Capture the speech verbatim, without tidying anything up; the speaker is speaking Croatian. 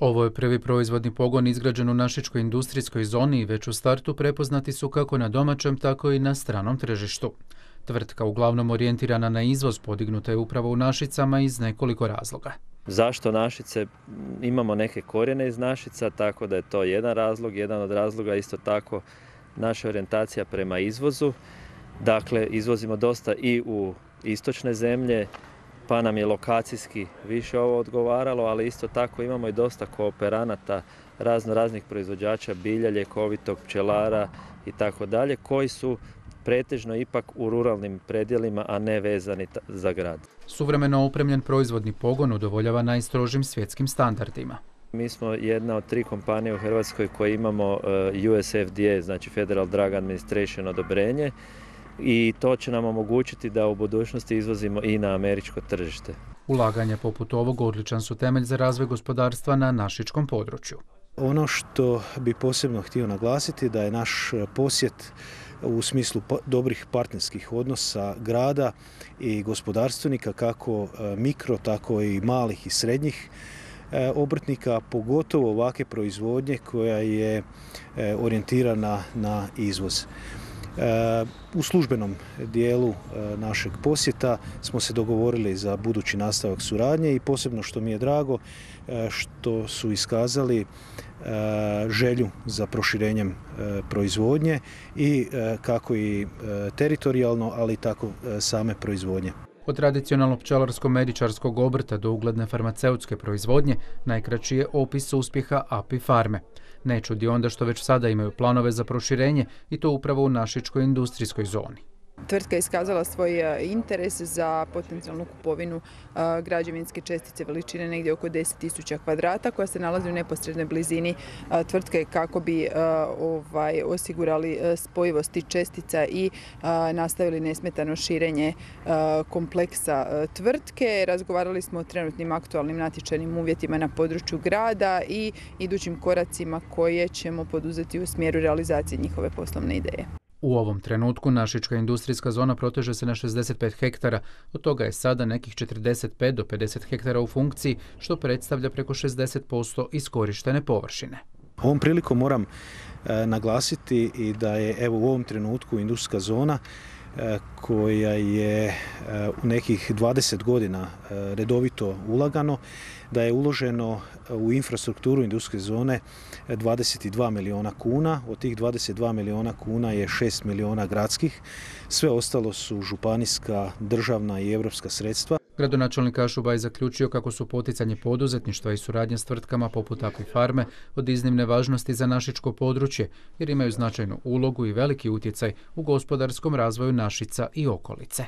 Ovo je prvi proizvodni pogon izgrađen u našičkoj industrijskoj zoni i već u startu prepoznati su kako na domaćem, tako i na stranom tržištu. Tvrtka uglavnom orijentirana na izvoz podignuta je upravo u Našicama iz nekoliko razloga. Zašto Našice? Imamo neke korijene iz Našica, tako da je to jedan razlog. Jedan od razloga isto tako naša orijentacija prema izvozu. Dakle, izvozimo dosta i u istočne zemlje, pa nam je lokacijski više ovo odgovaralo, ali isto tako imamo i dosta kooperanata, razno raznih proizvođača bilja, ljekovitog, pčelara i tako dalje, koji su pretežno ipak u ruralnim predjelima, a ne vezani za grad. Suvremeno opremljen proizvodni pogon udovoljava najstrožim svjetskim standardima. Mi smo jedna od tri kompanije u Hrvatskoj koji imamo U S F D A, znači Federal Drug Administration odobrenje, i to će nam omogućiti da u budućnosti izvozimo i na američko tržište. Ulaganja poput ovog odličan su temelj za razvoj gospodarstva na našičkom području. Ono što bi posebno htio naglasiti da je naš posjet u smislu dobrih partnerskih odnosa grada i gospodarstvenika, kako mikro, tako i malih i srednjih obrtnika, pogotovo ovakve proizvodnje koja je orijentirana na izvoz. U službenom dijelu našeg posjeta smo se dogovorili za budući nastavak suradnje i posebno što mi je drago što su iskazali želju za proširenjem proizvodnje i kako i teritorijalno, ali i tako same proizvodnje. Od tradicionalnog pčelarsko-medičarskog obrta do ugledne farmaceutske proizvodnje najkraći je opis uspjeha Api Farme. Ne čudi onda što već sada imaju planove za proširenje i to upravo u našičkoj industrijskoj zoni. Tvrtka je iskazala svoj interes za potencijalnu kupovinu građevinske čestice veličine negdje oko deset tisuća kvadrata koja se nalazi u neposrednoj blizini tvrtke kako bi ovaj, osigurali spojivost tih čestica i nastavili nesmetano širenje kompleksa tvrtke. Razgovarali smo o trenutnim aktualnim natječajnim uvjetima na području grada i idućim koracima koje ćemo poduzeti u smjeru realizacije njihove poslovne ideje. U ovom trenutku našička industrijska zona proteže se na šezdeset pet hektara, od toga je sada nekih četrdeset pet do pedeset hektara u funkciji, što predstavlja preko šezdeset posto iskorištene površine. Ovom prilikom moram e, naglasiti i da je evo u ovom trenutku industrijska zona e, koja je e, u nekih dvadeset godina e, redovito ulagano, da je uloženo u infrastrukturu industrijske zone dvadeset dva milijuna kuna. Od tih dvadeset dva milijuna kuna je šest milijuna gradskih. Sve ostalo su županijska, državna i europska sredstva. Gradonačelnik Kašuba je zaključio kako su poticanje poduzetništva i suradnje s tvrtkama poput Api Farme od iznimne važnosti za našičko područje, jer imaju značajnu ulogu i veliki utjecaj u gospodarskom razvoju Našica i okolice.